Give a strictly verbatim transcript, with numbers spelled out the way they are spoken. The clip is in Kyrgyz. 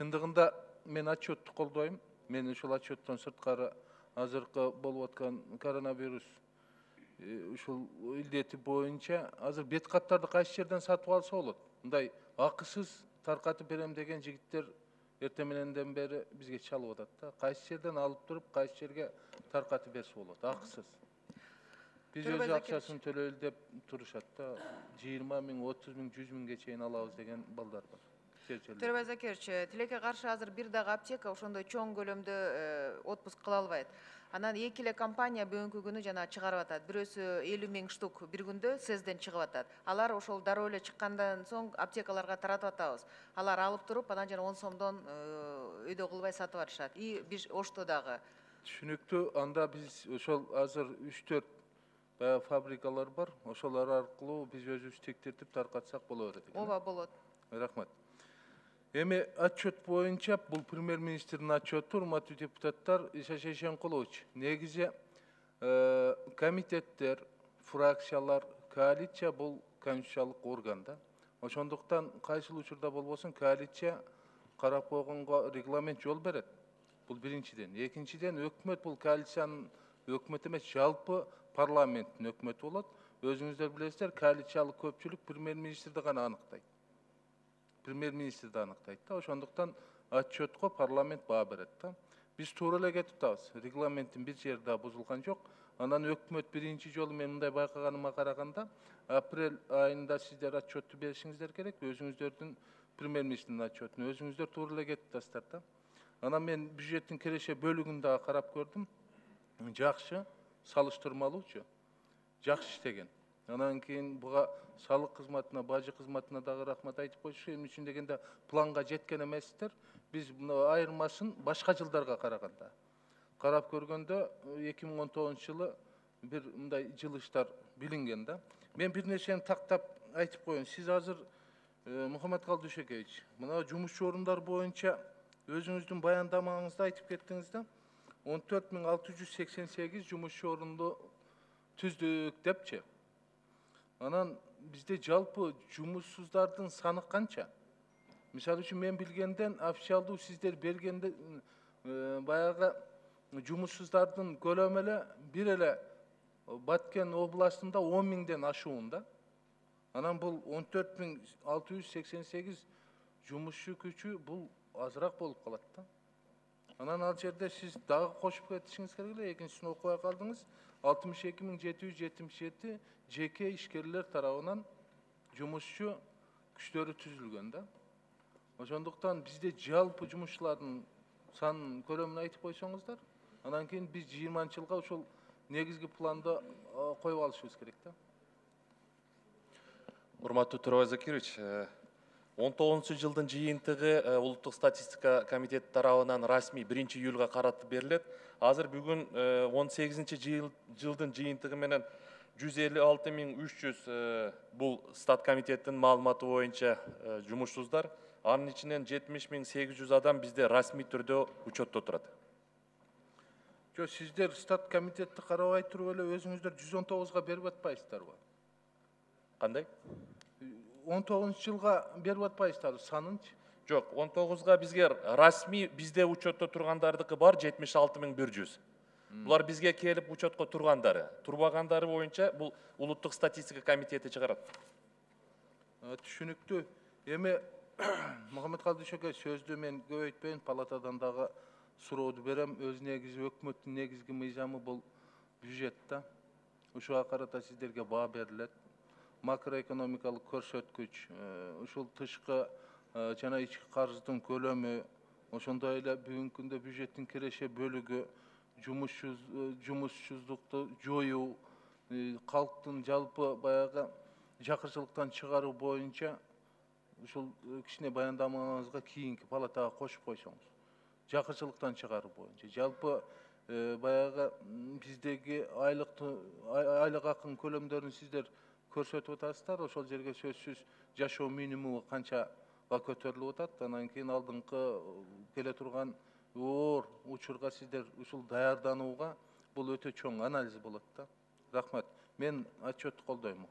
Чындыгында мен отчетту колдойм. Мен ушул отчеттон сырткары азыркы болуп аткан коронавирус ушул илдети боюнча азыр бет каптарды кайсы жерден сатып алса болот. Мындай акысыз таркатып берем деген жигиттер эртең мененден бери бизге чалып атат да. Кайсы жерден алып туруп, кайсы жерге таркатып берсе болот, акысыз. Биз өз акчасын төлөйлү деп турушат да. жыйырма миң, отуз миң, жүз миңге чейин алабыз деген балдар бар. Төрөбай Закирович, тилекке каршы азыр бир дагы аптека ошондой чоң көлөмдө отпуск кыла албайт. Анан эки эле компания бүгүнкү күнү жана чыгарып атат. Бирөөсү элүү миң штук бир күндө сэзден чыгып атат. Алар ошол дароо эле чыккандан соң аптекаларга таратып атабыз. Алар алып туруп, анан жана он сомдон өйдө кылбай сатып атышат. И бир ошто дагы. Түшүнүктүү. Анда биз ошол азыр үч төрт баягы фабрикалар бар. Ошолор аркылуу биз өзүбүз тектиртип таркатсак боло берет экен. Ооба, болот. Рахмат. Эми отчет боюнча бул премьер-министрдин отчету, урматтуу депутаттар, Иса Шейшенкулович. Негизи комитеттер, фракциялар, коалиция бул конституциялык орган да. Ошондуктан кайсыл учурда болбосун коалиция карап койгонго регламент жол берет. Бул биринчиден. Экинчиден, өкмөт бул коалициянын өкмөт эмес, жалпы парламенттин өкмөтү болот. Өзүңүздөр билесиздер, коалициялык көпчүлүк премьер-министрди гана аныктайт. Премьер-министрди аныктайт да. Ошондуктан отчетко парламент баа берет да. Биз туура эле кетип атабыз. Регламенттин бир жери да бузулган жок. Анан өкмөт биринчи жолу мен мындай байкаганыма караганда, апрель айында сиздер отчетту беришиңиздер керек. Өзүңүздөрдүн премьер-министрдин отчетун өзүңүздөр туура эле кетип атасыздар да. Анан мен бюджеттин киреше бөлүгүн дагы карап көрдүм. Жакшы, салыштырмалуучу. Жакшы иштеген. Анан кийин буга салык кызматына, бажы кызматына дагы рахмат айтып коюшу. Эмне үчүн дегенде планга жеткен эмессиздер. Биз айырмасын башка жылдарга караганда карап көргөндө эки миң он тогузунчу жылы бир мындай жылыштар билинген да. Мен бир нерсени тактап айтып коеюн. Сиз азыр Мухаммадкалый Дүйшөкевич, мына жумушчу орундар боюнча өзүңүздүн баяндамаңызда айтып кеттиңиз да. он төрт миң алты жүз сексен сегиз жумушчу орунду түздүк депчи. Анан бизде жалпы жумушсуздардын саны канча? Мисалы үчүн мен билгенден официалдуу сиздер бергенде баягы жумушсуздардын көлөмү эле бир эле Баткен областында он миңден ашуунда. Анан бул он төрт миң алты жүз сексен сегиз жумушчу күчү бул азыраак болуп калат да. Анан ал жерде сиз дагы кошуп кетишиңиз керек эле. Экинчисин окубай калдыңыз. алтымыш эки миң жети жүз жетимиш жети жеке ишкерлер тарабынан жумушчу күчтөрү түзүлгөн да. Ошондуктан бизде жалпы жумушчулардын санын көлөмүн айтып койсоңуздар, анан кийин биз жыйырманчы жылга ушул негизги планды коюп алышыбыз керек да. Урматтуу Төрөбай Закирович, он тогузунчу жылдын жыйынтыгы улуттук статистика комитети тарабынан расмий биринчи июлга каратып берилет. Азыр бүгүн он сегизинчи жылдын жыйынтыгы менен жүз элүү алты миң үч жүз бул стат комитеттин маалыматы боюнча жумушсуздар. Анын ичинен жетимиш миң сегиз жүз адам бизде расмий түрдө учетто турат. Жок, сиздер стат комитетти карабай туруп эле өзүңүздөр жүз он тогузга берип атпайсыздарбы? Кандай? он тогузунчу жылга берип атпайсыздарбы санынчы? Жок, он тогузга бизге расмий бизде учетто тургандардыкы бар жетимиш алты миң бир жүз. Булар бизге келип учетко тургандары. Турбагандары боюнча бул улуттук статистика комитети чыгарат. Түшүнүктүү. Эми Мухаммадкалый Дүйшөкевич, сөздү мен көбөйтпөйүн, палатадан дагы сурооду берем. Өз негизи өкмөттүн негизги мыйзамы бул бюджет да. Ушуга карата сиздерге баа берилет. Макроэкономикалык көрсөткүч, ушул тышкы жана ички карыздын көлөмү, ошондой эле бүгүнкү күндө бюджеттин киреше бөлүгү, жумушсуздукту жоюу, калктын жалпы баягы жакырчылыктан чыгаруу боюнча ушул кичине баяндамаңызга кийинки палатага кошуп койсоңуз. Жакырчылыктан чыгаруу боюнча жалпы баягы биздеги айлыкты айлык акын көлөмдөрүн сиздер көрсөтүп атасыздар. Ошол жерге сөзсүз жашоо минимуму канчага көтөрүлүп атат. Анан кийин алдыңкы келе турган оор учурга сиздер ушул даярданууга бул өтө чоң анализ болот да. Рахмат. Мен отчетту колдойм.